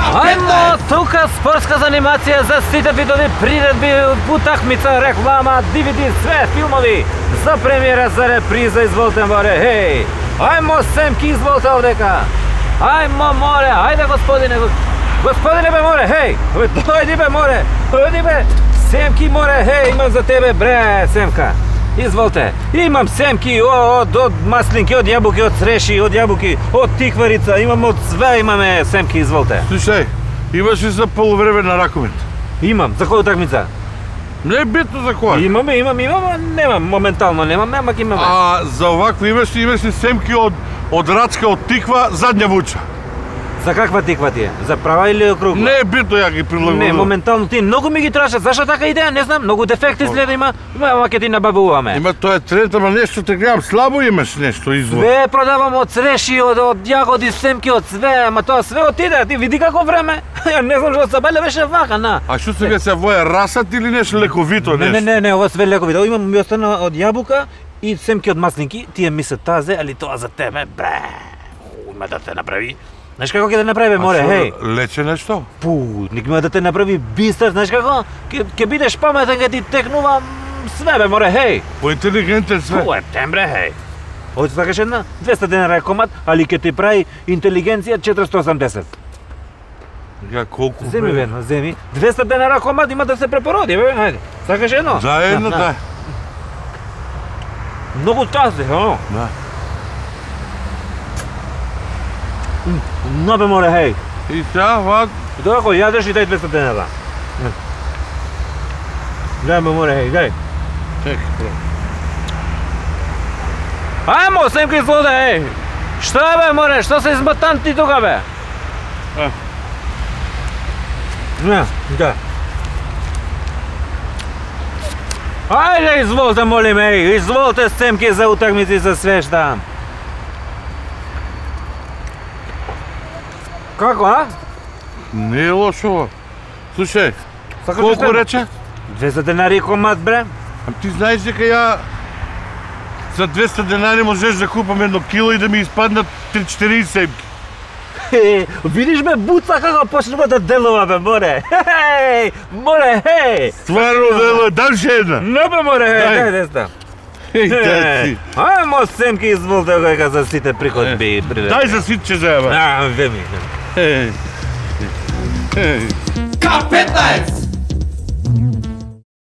Ајмо тука спортска занимација за сите видови приредби, утакмица, реклама, DVD, све филмови за премиера, за реприза, изволте море, хеј! Ајмо Семки, изволте овдека! Ајмо море, ајде господине, господине бе море, хеј! Дојди бе море, дојди бе! Семки море, хеј, имам за тебе бре, Семка! Изволте, имам семки од маслинки, од јабуки, од цреши, од јабуки, од тикварица, имам од све, имаме семки, изволте. Слушај, имаш ли за полувреме на ракомет? Имам, за која утакмица? Не е битно за која. Имам, немам, моментално немам, амак имаме. А за овакво имаш ли семки од рачка, од тиква, задња вуча? За каква тиква ти е? За права или округла? Не е битно, ја ги прилагодувам. Не, моментално ти многу ми ги трашат. Зашто така идеја? Не знам, многу дефекти изгледа има. Ама ќе ти набавуваме. Има тоа е тренд, ама нешто те гледам слабо имаш нешто извор. Све продавам од цреши, од јагоди, семки, од све, ама тоа све отиде. Ти види како време. Ја не знам што Сабеле беше вака, на. А што сега се воја расат или нешто лековито нешто? Не, ова све лековито. Имам ми остана од јабука и семки од маслинки. Тие ми се тазе, али тоа за тебе, бре. Има да те направи. Знаеш како ќе да направи, море, хеј? Лече нешто? Пу, ник ме да те направи бистар, знаеш како? Ќе бидеш паметен, ќе ти текнува све, бе, море, хеј! Поинтелигентен све. Пу, тембре, хеј! Ојце сакаш една? 200 денара е комат, али ќе ти прави интелигенција 480. Ја колку? Земи, ведно, земи. 200 денара комат има да се препороди, бе, хајде. Сакаш едно? За едно, да. Многу тазе, о? Да. Но бе, море, хеј! И сега, вак... Тоа кој јадеш и дај 200 денара. Дај ме, море, хеј, дај. Чек, Ајмо, Семка излода, еј! Што бе, море, што се изматан ти тука, бе? Не, да. Ајде, изволте, молим, еј, изволте, Семки, за утакмици за све штам. Како, а? Не е лошо. Слушај, Сакаш колку да рече? 200 денари комат, бре. А ти знаеш дека ја за 200 денари можеш да купам едно кило и да ми испаднат 3-4 семки. Видиш бе, буца како почнува да делува, бе, море. Хеј, море, хеј. Стварно дело, дам ше една. Не бе, море, хеј, дај деста. Еј, дај ти. Ајмо, Семки, изволте кој за сите приходби. Дај за ситче заеба. Веми. Еј. K15